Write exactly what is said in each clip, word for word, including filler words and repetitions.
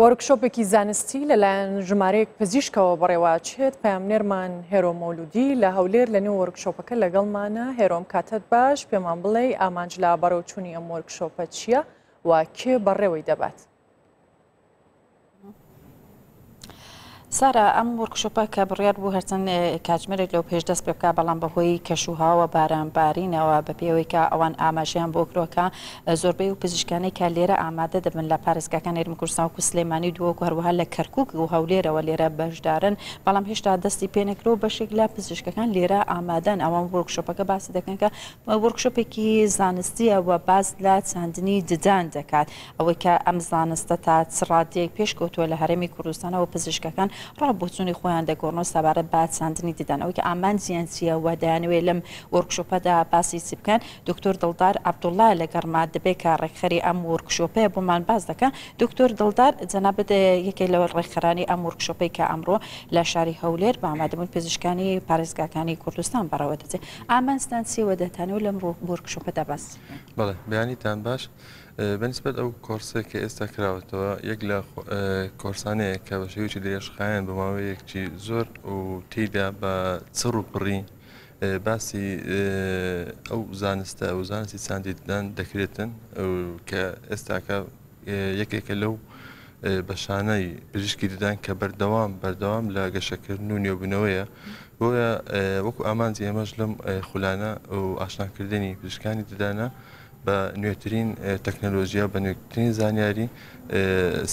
وۆرکشۆپێکی زانستی لەلایەن ژمارەیەک پزیشکەوە بەڕێوەچێت. پەیامنێرمان هێرۆ مەولودی لە هەولێر لە نێو وۆرکشۆپەکە لەگەڵمانە. هێرۆم، کاتت باش، پێمان بڵێ ئامانج لە بەڕێوچوونی ئەم وۆرکشۆپە چییە و کێ بەڕێوەی دەبات؟ سارا، ئەم وۆرکشۆپە کە بڕیار بوو هەرچەند کاتژمێرێک لەو پێش دەست پێ بکە، بەڵام بەهۆی کەشوهاوە بارانبارینەوە بە پێوەی کە ئەوان ئاماژەیان بۆ کرۆکە زۆربەی و پزیشکانەی کە لێرە ئامادە دەبن لە پارێزگاکان هەرێمی کوردستان وەکو سلێمانی و دهۆک و هەروەها لە کەرکوک و هەولێرەوە لێرە بەشدارن، بەڵام هێشتا دەستی پێنەکرەوە. بەشێک لە پزیشکەکان لێرە ئامادەن. ئەوان وۆرکشۆپەکە باسی دەکەن کە وۆرکشۆپێکی زانستیە و باس لە چاندنی ددان دەکات. ئەوەی کە ئەم زانستە تا چ ڕادەیەک پێشکەوتووە لە هەرێمی کوردستانەوە، پزیشکەکان ڕابۆچوونی خۆیان دەگۆڕنەوە سەبارەت بە چاندنی ددان. ئەوەی کە ئامانجیان چییە و دەیانەوێت لەم وۆرکشۆپەدا باسی چی بکەن، دکتۆر دڵدار عەبدوڵڵا لەگەڕما دەبێت کە ڕێکخەری ئەم وۆرکشۆپەیە بۆمان باس دەکەن. دکتۆر دڵدار، جەنابت یەکێک لە ڕێکخەرانی ئەم وۆرکشۆپەی کە ئەمڕۆ لە شاری هەولێر بە ئامادەبوون پزیشکانی پارێزگاکانی کوردستان بەڕێوە دەچێت، ئامانجتان چییە دەتانەوە لەم وۆرکشۆپەدا باس بکەن؟ بەڵێ، بەیانیتان باش. بەنسبەت ئەو کۆرسێک کە ئێستا کراوەتەوە، یەک لە کۆرسانەیە کە بە شێوەیەکی درێژخایەن بە ماوەیەکی زۆر و تێیدا بە چڕ و پڕی باسی ئەو زانستە و زانستی چاندی ددان دەکرێتن کە ئێستاکە یەکێکە لەو بەشانەی پزیشکی ددان کە بەردەوام بەردەوام لە گەشەکردن و نوێبوونەوەیە. بۆیە وەکو ئامانجی ئێمەش لەم خولانە و ئاشناکردنی پزیشکانی ددانە بە نوێترین تەکنەلۆژیا، بە نوێترین زانیاری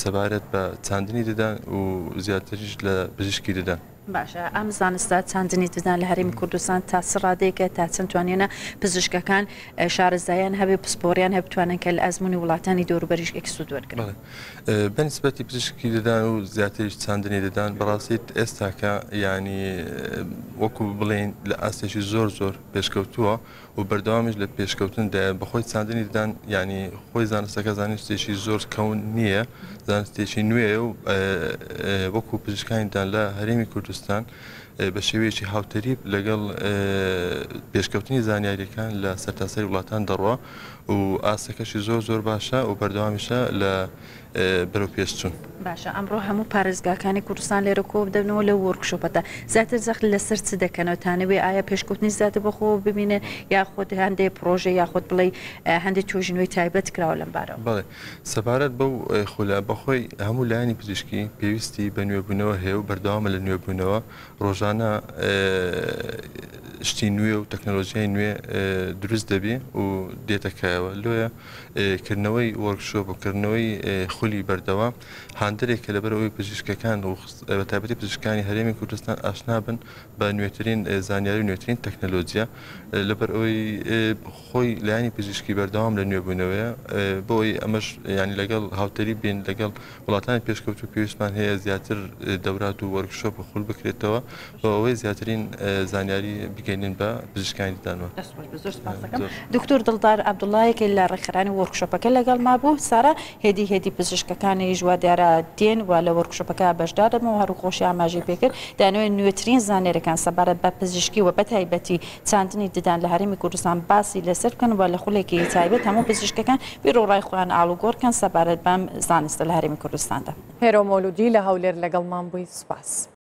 سەبارەت بە چاندنی ددان و زیاتریش لە پزیشکی ددان. باشە، ئەم زانستە چاندنی ددان لە هەرێمی کوردستان تا چ ڕادەیەکە، تا چەند توانیانە پزیشکەکان شارەزایان هەبێ، پسپۆریان هەبێ، بتوانن کە لە ئەزمموی وڵاتانی دەوروبەریش سوود وەرگرن؟ بەنسبەتی پزیشکی ددان و زیاتریش چاندنی ددان، بەڕاستی ئێستاکە ینی وەکو بڵێن لە ئاستێکی زۆر زۆر پێشکەوتووە و بەردەوامیش لە پێشکەوتندایە. بەخۆی چاندنی ددان ینی خۆی زانستەکە زانستێکی زۆر کەون نییە، زانستێکی نوێیە و وەکو پزیشکانی ددان لە هەرێمی کوردستان بە شێوەیەکی هاوتەریب لەگەڵ پێشکەوتنی زانیاریەکان لە سەرتاسەری وڵاتان دەڕوا و ئاستەکەشی زۆر زۆر باشە و بەردەوامیشە لە بەرەو پێشچوون. باشە، ئەمڕۆ هەموو پارێزگاکانی کوردستان لێرە کۆ بدەنەوە لەو وۆرکشۆپەدا زیاتر زەخت لەسەر چ دەکەنەوە؟ تانەوێ ئایا پێشکەوتنی زیاتر بەخۆ ببینن یاخود هەندێک پرۆژە یاخود بڵێ هەندێک توێژینەوەی تایبەت کراوە لەم بارەوە؟ بەڵێ، سەبارەت بەو خولە بەخۆی هەموو لایەنی پزیشکی پێویستی بە نوێبوونەوە هەیە و بەردەوامە لە نوێبوونەوە. ڕۆژانە شتی نوێ و تەکنەلۆژیای نوێ دروست دەبی و دێتەکایەوە. لۆیە کردنەوەی وۆرکشۆپ و کردنەوەی خولی بەردەوام هاندەرێکە لەبەرەوەی پزیشکەکان و بە تایبەتی پزیشکانی هەرێمی کوردستان ئاشنا بن بە نوێترین زانیاری و نوێترین تەکنەلۆژیا. لەبەر ئەوەی خۆی لایەنی پزیشکی بەردەوام لە نوێبوونەوەیە، بۆی ئەمەش ینی لەگەڵ هاوتەری بین لەگەڵ وڵاتانی پێشکەوتو پێویستمان هەیە زیاتر دەورات و وۆرکشۆپ و خول بکرێتەوە بۆ ئەوەی زیاترین زانیاری بگەینن بە پزیشکانی ددانەوە. دکتۆر دڵدار عەبدوڵڵا یەکێک لە ڕێکخەرانی وۆرکشۆپەکە لەگەڵ ما بوو. سارا، هێدی هێدی پزیشکەکانیش وا دیارە دێن و لە وۆرکشۆپەکە بەشدار دەبن و هەرو خۆشی ئاماژەی پێکرد دانەوەی نوێترین زانیاریەکان سەبارەت بە پزیشکی و بەتایبەتی چاندنی ددان لە هەرێمی کوردستان باسی لەسەر بکەن و لە خولێکی تایبەت هەموو پزیشکەکان بیر و ڕای خۆیان ئاڵوگۆڕ بکەن سەبارەت بەم زانستە لە هەرێمی کوردستاندا. هێرۆ مەولودی لە هەولێر لەگەڵمان بووی، سوپاس.